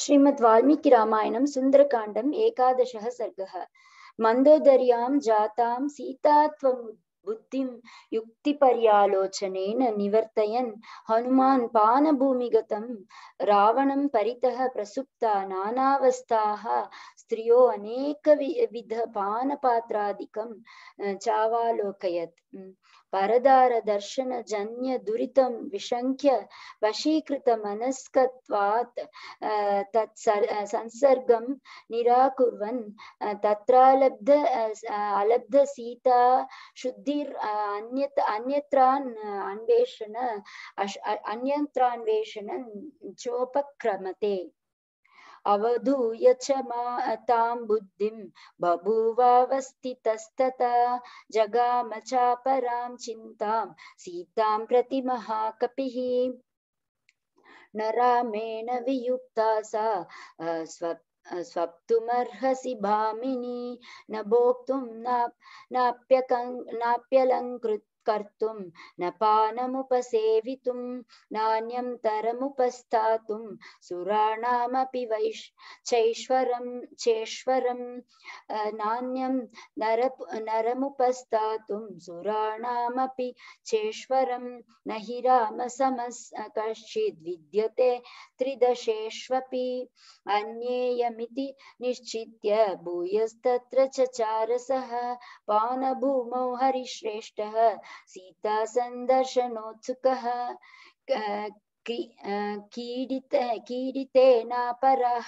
श्रीमद् वाल्मीकि रामायणं सुन्दरकाण्डम् एकादशः सर्गः। मन्दोदर्यां जातां सीता त्वं बुद्धिं युक्तिपर्यालोचनेन निवर्तयन् हनुमान् पानभूमिगतं रावणं परितः प्रसुप्ता नानावस्थाः स्त्रियो अनेकविध पानपात्रादिकं चावालोकयत्। परदारदर्शनजन्य दुरितं विशङ्क्य वशीकृतमनस्कत्वात् संसर्गं निराकुर्वन् अलब्ध सीता शुद्धिर् अन्यत्रान्वेषण चोपक्रमते। अवधूय च तां बुद्धिं बभूवावस्थितस्तथा जगाम चापरां चिन्तां सीतां प्रति महाकपिः। न रामेण वियुक्ता सा स्वप्तुमर्हसि भामिनी न भोक्तुं नाप्यलङ्कृत् कर्तुं न पानमुपसेवितुं नान्यं तरमुपस्थातुं सुराणामपि चेश्वरं नान्यं नरमुपस्थातुं सुराणामपि चेश्वरं न हि रामसमः कश्चिद् विद्यते त्रिदशेष्वपि। अन्येयमिति निश्चित्य भूयस्तत्र चचारसः पानभूमौ हरिश्रेष्ठः सीता सन्दर्शनोत्सुकः। कीडितेनापराः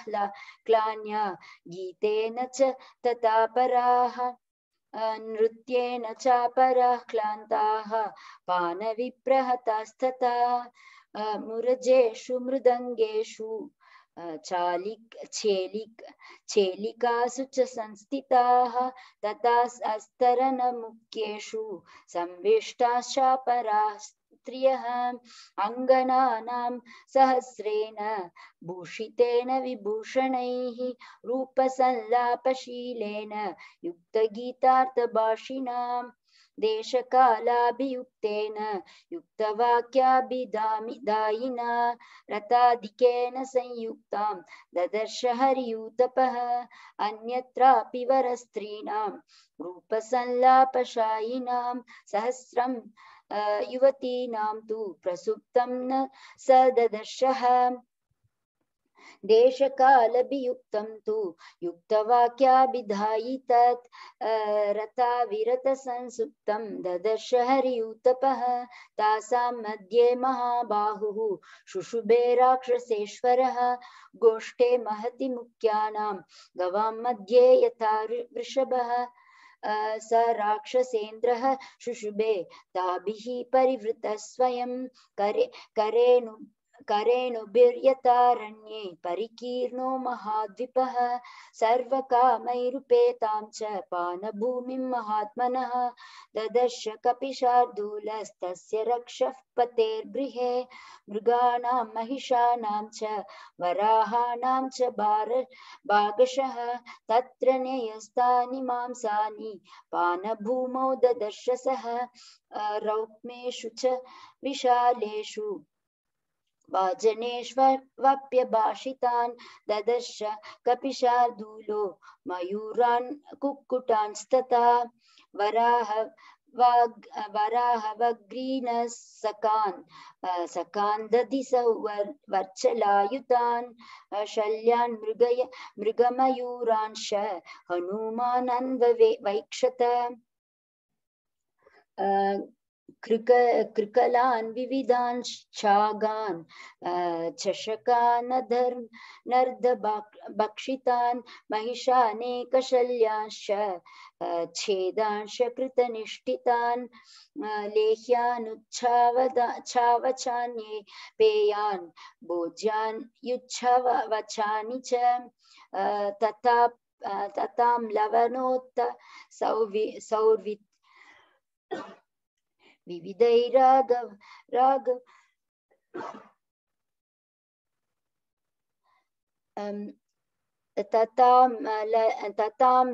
क्लान्या गीतेन च ततापराः नृत्येन चापराः क्लान्ताः पानविप्रहतास्तथा मुरजेषु मृदङ्गेषु चेलिकासु च संस्थिताः तथा अस्तरनमुख्येषु संविष्टाश्चापराः स्त्रियः अङ्गनानां सहस्रेण भूषितेन विभूषणैः रूपसल्लापशीलेन युक्तगीतार्थभाषिणाम् देशकालाभियुक्तेन युक्तवाक्याभिदायिना रताधिकेन संयुक्तां ददर्श हरियूतपः। अन्यत्रापि वरस्त्रीणां रूपसल्लापशायिनां सहस्रं युवतीनां तु प्रसुप्तं न स ददर्शः। देशकालभियुक्तं तु युक्तवाक्याभिधायि तत् रताविरतसंसुप्तं ददर्श हरियूतपः। तासां मध्ये महाबाहुः शुशुभे राक्षसेश्वरः गोष्ठे महति मुख्यानां गवां मध्ये यथा वृषभः स राक्षसेन्द्रः शुशुभे ताभिः परिवृतः स्वयं करेणुभिर्यतारण्ये परिकीर्णो महाद्विपः सर्वकामैरुपेतां च पानभूमिं महात्मनः ददर्श कपिशार्दूलस्तस्य रक्षः पतेर्गृहे मृगाणां महिषाणां च वराहाणां च भागशः तत्र न्यस्तानि मांसानि पानभूमौ ददर्श सः रौक्मेषु च विशालेषु वाजनेष्वप्यभाषितान् ददर्श कपिशार्दूलो मयूरान् कुक्कुटांस्तथा वराहवग्रीनः सकान् दधिसौ वर्चलायुतान् शल्यान् मृगमयूरांश हनुमानन्वैक्षत कृकलान् विविधान् शागान् चषकानर्धभक्षितान् महिषानेकशल्यांश्च छेदांश कृतनिष्ठितान् लेह्यानुच्छावचान्ये पेयान् भोज्यान् युच्छवचानि च ततां लवणोत्त सौर्वित् विविधैरागव ततां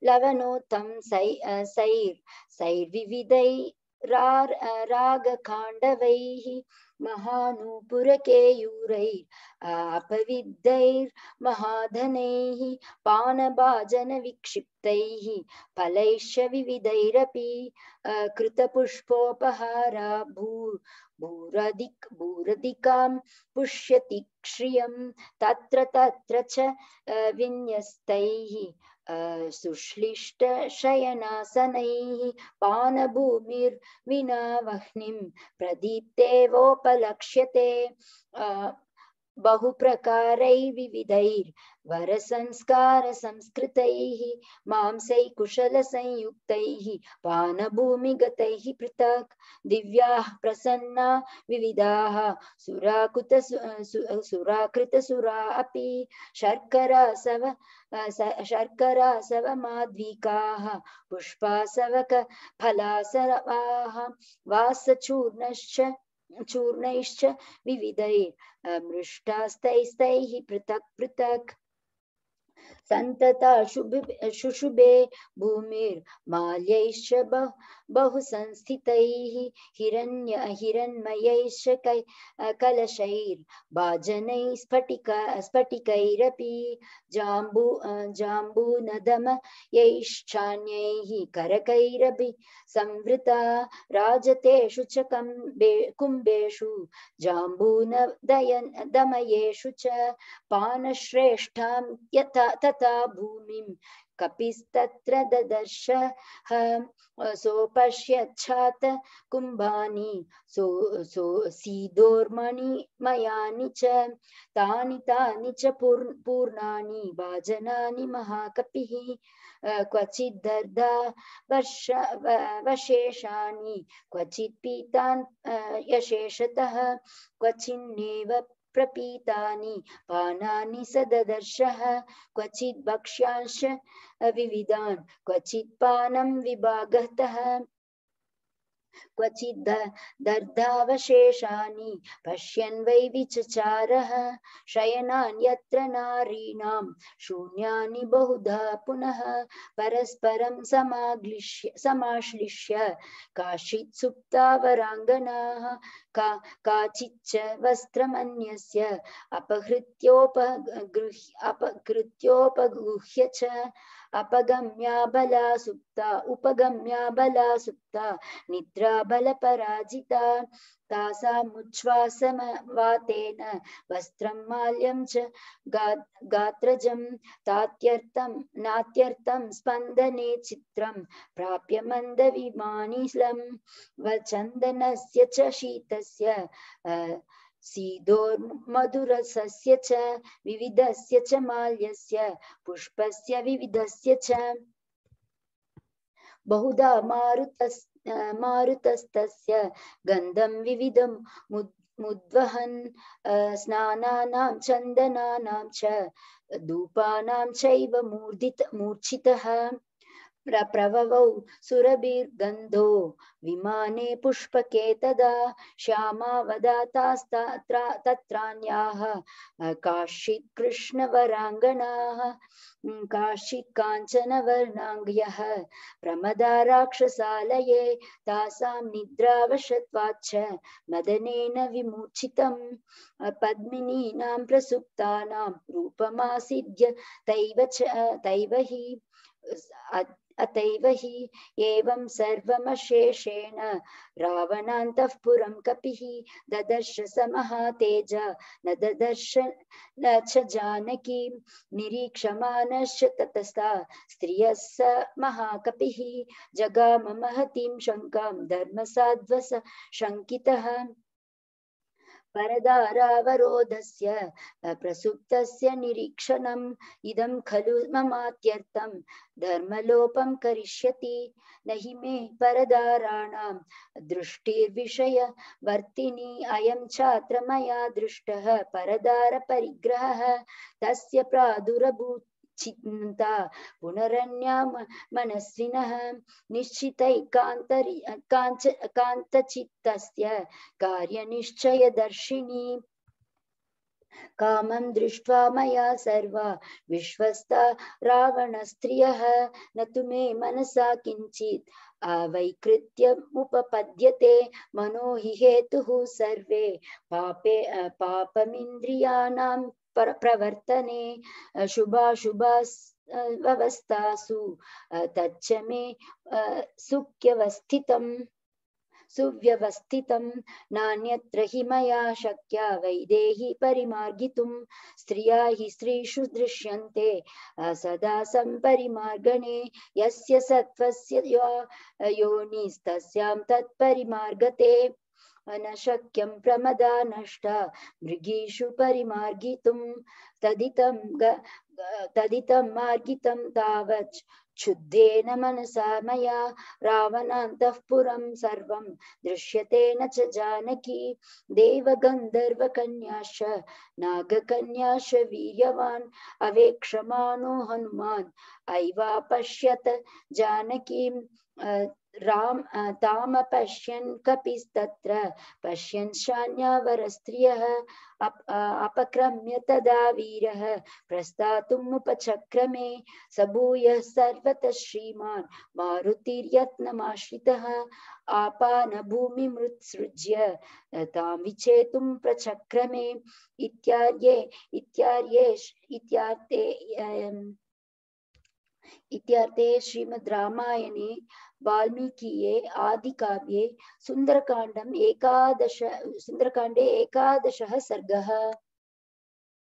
लवणोत्तं सैर्विविधैरागकाण्डवैः महानूपुरकेयूरैरापविद्धैर्महाधनैः पानभाजनविक्षिप्तैः फलैश्च विविधैरपि कृतपुष्पोपहारा भूरधिकां पुष्यति श्रियं तत्र तत्र च विन्यस्तैः सुश्लिष्टशयनासनैः पानभूमिर्विना वह्निं प्रदीप्तेवोपलक्ष्यते बहुप्रकारैर्विविधैर्वरसंस्कारसंस्कृतैः मांसैः कुशलसंयुक्तैः पानभूमिगतैः पृथक् दिव्याः प्रसन्ना विविधाः सुराकृतसुरा अपि शर्करासवमाध्विकाः पुष्पासवक फलासवाः चूर्णैश्च विविधैर्मृष्टास्तैस्तैः पृथक् पृथक् सन्तता शुशुभे भूमिर्माल्यैश्च बहुसंस्थितैः हिरण्मयैश्च कलशैर्भाजनैः स्फटिकैरपि जाम्बूनदमयैश्चान्यैः करकैरपि संवृता राजतेषु च कुम्भेषु जाम्बूनदमयेषु च पानश्रेष्ठां तथा भूमिं कपिस्तत्र ददर्श सोपश्यच्छात कुम्भानि सीदोर्मणिमयानि च तानि च पूर्णानि भाजनानि महाकपिः क्वचिद्दर्धा वशेषानि क्वचित् पीतान् यशेषतः क्वचिन्नेव प्रपीतानि पानानि सददर्शः क्वचित् भक्ष्यांश विविधान् क्वचित् पानं विभागतः क्वचित् दर्धावशेषानि पश्यन् वै विचचारः शयनान्यत्र नारीणां शून्यानि बहुधा पुनः परस्परं समाश्लिष्य काचित् सुप्ता वराङ्गनाः काचिच्च वस्त्रमन्यस्य अपहृत्योपगृह्य च उपगम्या बला सुप्ता निद्रा बलपराजिता तासामुच्छ्वासवातेन वस्त्रं माल्यं च गात्रजं नात्यर्थं स्पन्दने चित्रं प्राप्य मन्दविमानिलं वचन्दनस्य च शीतस्य सीदोर्मधुरसस्य च विविधस्य च माल्यस्य पुष्पस्य विविधस्य च बहुधा मारुतस्तस्य गन्धं विविधं मुद्वहन् स्नानानां चन्दनानां च धूपानां चैव मूर्छितः प्रववौ सुरभिर्गन्धो विमाने पुष्पके तदा श्यामावदातास्तत्रान्याः काश्चित् कृष्णवराङ्गनाः काश्चित् काञ्चनवर्णाङ्ग्यः प्रमदा राक्षसालये तासां निद्रावशत्वाच्च मदनेन विमूर्छितं पद्मिनीनां प्रसुप्तानां रूपमासीद्य तैव हि अतैव हि एवं सर्वमशेषेण रावणान्तःपुरं कपिः ददर्श स महातेज न ददर्श न च जानकी निरीक्षमाणश्च ततस्ता स्त्रियः स महाकपिः जगाम महतीं शङ्कां धर्मसाध्वस शङ्कितः परदारावरोधस्य प्रसुप्तस्य निरीक्षणम् इदं खलु ममात्यर्थं धर्मलोपं करिष्यति न हि मे परदाराणां दृष्टिर्विषयवर्तिनी अयं छात्र मया दृष्टः परदारपरिग्रहः तस्य प्रादुरभूत् चिन्ता पुनरन्या मनस्विनः निश्चितैकान्तचित्तस्य कार्यनिश्चयदर्शिनी कामं दृष्ट्वा मया सर्वा विश्वस्ता रावणस्त्रियः न तु मे मनसा किञ्चित् अवैकृत्यमुपपद्यते मनो हि हेतुः सर्वे पापमिन्द्रियाणां प्रवर्तने शुभाशुभावस्थासु तच्च मे सुव्यवस्थितं नान्यत्र हि मया शक्या वैदेही परिमार्गितुं स्त्रिया हि स्त्रीषु दृश्यन्ते सदा सम्परिमार्गणे यस्य सत्त्वस्य योनिस्तस्यां तत्परिमार्गते न शक्यं प्रमदा नष्टा मृगीषु परिमार्गितुं तदितं मार्गितं तावत् क्षुद्धेन मनसा मया रावणान्तःपुरं सर्वं दृश्यते न च जानकी देवगन्धर्वकन्याश्च नागकन्याश्च वीर्यवान् अवेक्षमाणो हनुमान् ऐवापश्यत जानकीं तामपश्यन् कपिस्तत्र पश्यन् शान्यावरस्त्रियः अपक्रम्य तदा वीरः प्रस्तातुमुपचक्रमे सबूयः सर्वतः श्रीमान् मारुतिर्यत्नमाश्रितः आपानभूमिमुत्सृज्य तां विचेतुं प्रचक्रमे इत्यार्थे श्रीमद् रामायणे वाल्मीकिये आदिकाव्ये सुन्दरकाण्डे एकादशः सर्गः।